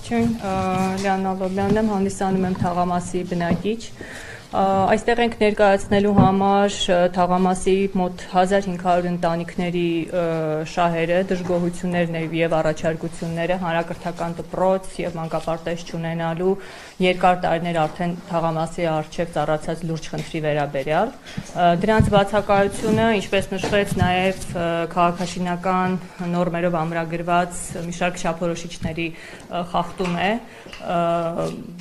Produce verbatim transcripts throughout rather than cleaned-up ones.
Ողջույն, Լիաննա Լոբյանն եմ, հանդիսանում եմ Թաղամասի բնակիչ։ Այստեղ ենք ներկայացնելու համար Թաղամասի մոտ հազար հինգ հարյուր ընտանիքների շահերը, դժգոհություններն եւ առաջարկությունները հանրակրթական դպրոց եւ մանկապարտեզ չունենալու երկար տարիներ արդեն Թաղամասի առջեւ ծառացած լուրջ խնդրի վերաբերյալ։ Դրանց բացակայությունը, ինչպես նշվեց, նաեւ քաղաքաշինական նորմերով ամրագրված մի շարք չափորոշիչների խախտում է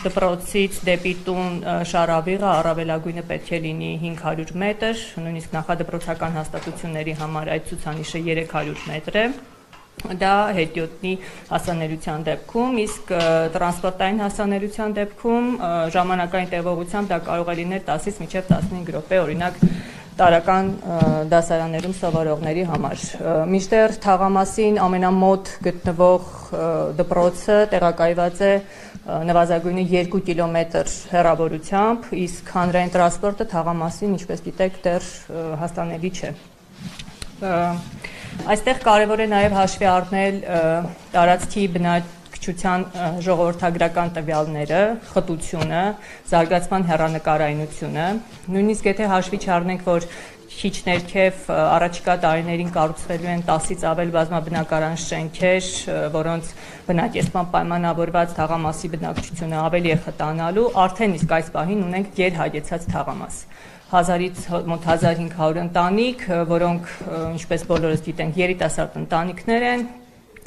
դպրոցից դեպի տուն շարավիղը առավելագույնը պետք է լինի հինգ հարյուր մետր, նույնիսկ նախադպրոցական հաստատությունների համար այդ ցուցանիշը երեք հարյուր մետր է։ Դա հետիոտնի հասանելիության դեպքում, իսկ տրանսպորտային հասանելիության դեպքում ժամանակային տևողությամբ դա կարող է լինել տասից մինչև տասնհինգ րոպե, օրինակ տարական դասարաններում սովորողների համար։ Մինչդեռ Թաղամասին ամենամոտ գտնվող դպրոցը տեղակայված է նվազագույնը երկու կիլոմետր հեռավորությամբ, իսկ հանրային տրանսպորտը Թաղամասին, ինչպես գիտեք, դեռ հասանելի չէ։ Այստեղ կարևոր է նաև հաշվի առնել տարածքի բնակչության ժողովրդագրական տվյալները, խտությունը, զարգացման հեռանկարայնությունը, նույնիսկ եթե հաշվի չառնենք, որ քիչ ներքև առաջիկա տարիներին կառուցվելու են տասից ավել բազմաբնակարան շենքեր, որոնց բնակեցման պայմանավորված Թաղամասի բնակչությունը ավելի է խտանալու, արդեն իսկ այս պահին ունենք գերհագեցած Թաղամաս։ Հազարից մոտ հազար հինգ հարյուր ընտանիք, որոնք, ինչպես բոլորս գիտենք, երիտասարդ ընտանիքներ են,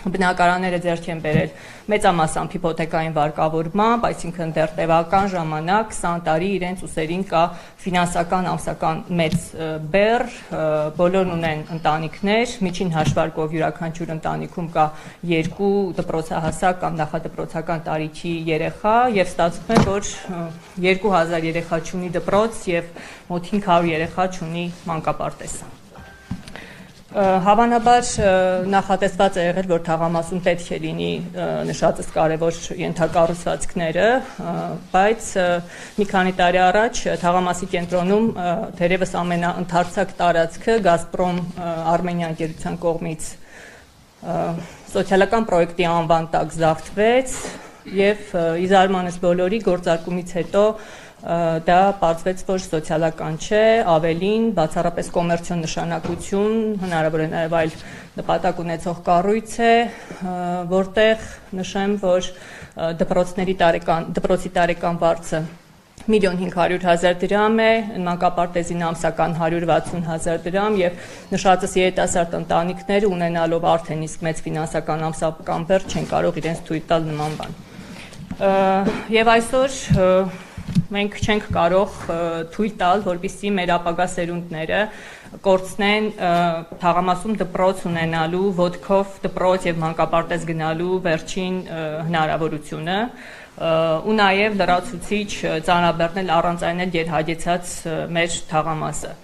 բնակարանները ձեռք են բերել մեծամասամբ հիփոթեկային վարկավորմամբ, այսինքն դեռ տևական ժամանակ քսան տարի իրենց ուսերին կա ֆինանսական ամսական մեծ բեռ, բոլորն ունեն ընտանիքներ, միջին հաշվարկով յուրաքանչյուր ընտանիքում կա երկու դպրոցահասակ կամ նախադպրոցական տարիքի երեխա եւ ստացվում է, որ երկու հազար երեխա չունի դպրոց եւ մոտ հինգ հարյուր երեխա չունի մանկապարտեզ։ Հավանաբար նախատեսված է եղել, որ Թաղամասում պետք է լինի նշածս կարևոր ենթակառուցվածքները, բայց մի քանի տարի առաջ Թաղամասի կենտրոնում թերևս ամենաընդարձակ տարածքը Գազպրոմ Արմենիա ընկերության կողմից սոցիալական պրոյեկտի անվան տակ զարթվեց եւ ի զարմանս բոլորի գործարկումից հետո դա պարզվեց, որ սոցիալական չէ, ավելին, բացառապես կոմերցիոն նշանակություն, հնարավոր է նաև այլ նպատակ ունեցող կառույց է, որտեղ նշեմ, որ դպրոցների տարեկան, դպրոցի տարեկան վարձը միլիոն հինգ հարյուր հազար դրամ է, մանկապարտեզին ամսական հարյուր վաթսուն հազար դրամ եւ նշածս երիտասարդ ընտանիքները ունենալով արդեն իսկ մեծ ֆինանսական ամսական բեռ չեն կարող իրենց թույլ տալ նման բան։ Եվ այսօր մենք չենք կարող թույլ տալ, որպեսզի մեր ապագա սերունդները կորցնեն Թաղամասում դպրոց ունենալու, ոտքով դպրոց եւ մանկապարտեզ գնալու վերջին հնարավորությունը ու նաեւ լրացուցիչ ծանրաբեռնել առանց այն էլ գերհագեցած մեր Թաղամասը։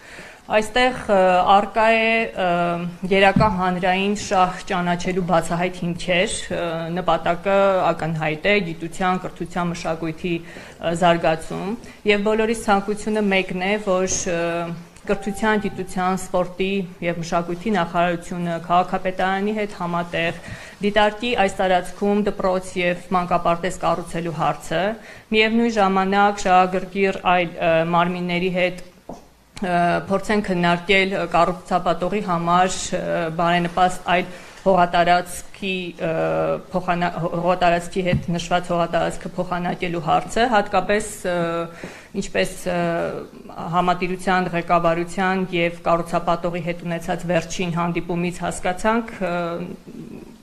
Այստեղ արկա է գերակա հանրային շահ ճանաչելու բացահայտ հիմքեր, նպատակը ակնհայտ է գիտության, կրթության, մշակույթի զարգացում եւ բոլորիս ցանկությունը մեկն է, որ կրթության, գիտության, սպորտի եւ մշակույթի նախարարությունը քաղաքապետարանի հետ համատեղ դիտարկի այս տարածքում դպրոց եւ մանկապարտեզ կառուցելու հարցը, միևնույն ժամանակ շահագրգիռ այլ մարմինների հետ փորձեն քննարկել կառուցապատողի համար բարենպաստ այլ հողատարածքի հողատարածքի հետ նշված հողատարածքը փոխանակելու հարցը, հատկապես ինչպես համատիրության ղեկավարության եւ կառուցապատողի հետ ունեցած վերջին հանդիպումից հասկացանք,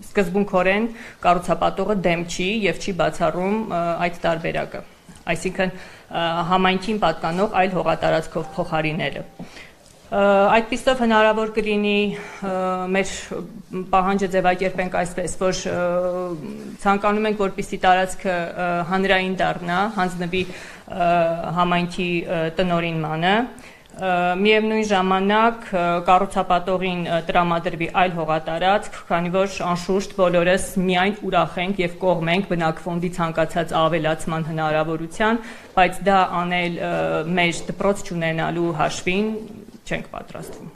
սկզբունքորեն կառուցապատողը դեմ չի եւ չի բացառում այդ տարբերակը, այսինքն համայնքին պատկանող այլ հողատարածքով փոխարինելը։ Այդպիսով հնարավոր կլինի մեր պահանջը ձևակերպենք այսպես, որ ցանկանում ենք, որպեսզի տարածքը հանրային դառնա, հանձնվի համայնքի տնօրինմանը, միևնույն ժամանակ կառուցապատողին տրամադրվի այլ հողատարածք, քանի որ անշուշտ բոլորս միայն ուրախ ենք եւ կողմ ենք բնակֆոնդի ցանկացած ավելացման հնարավորության, բայց դա անել մեր դպրոց չունենալու հաշվին չենք պատրաստվում։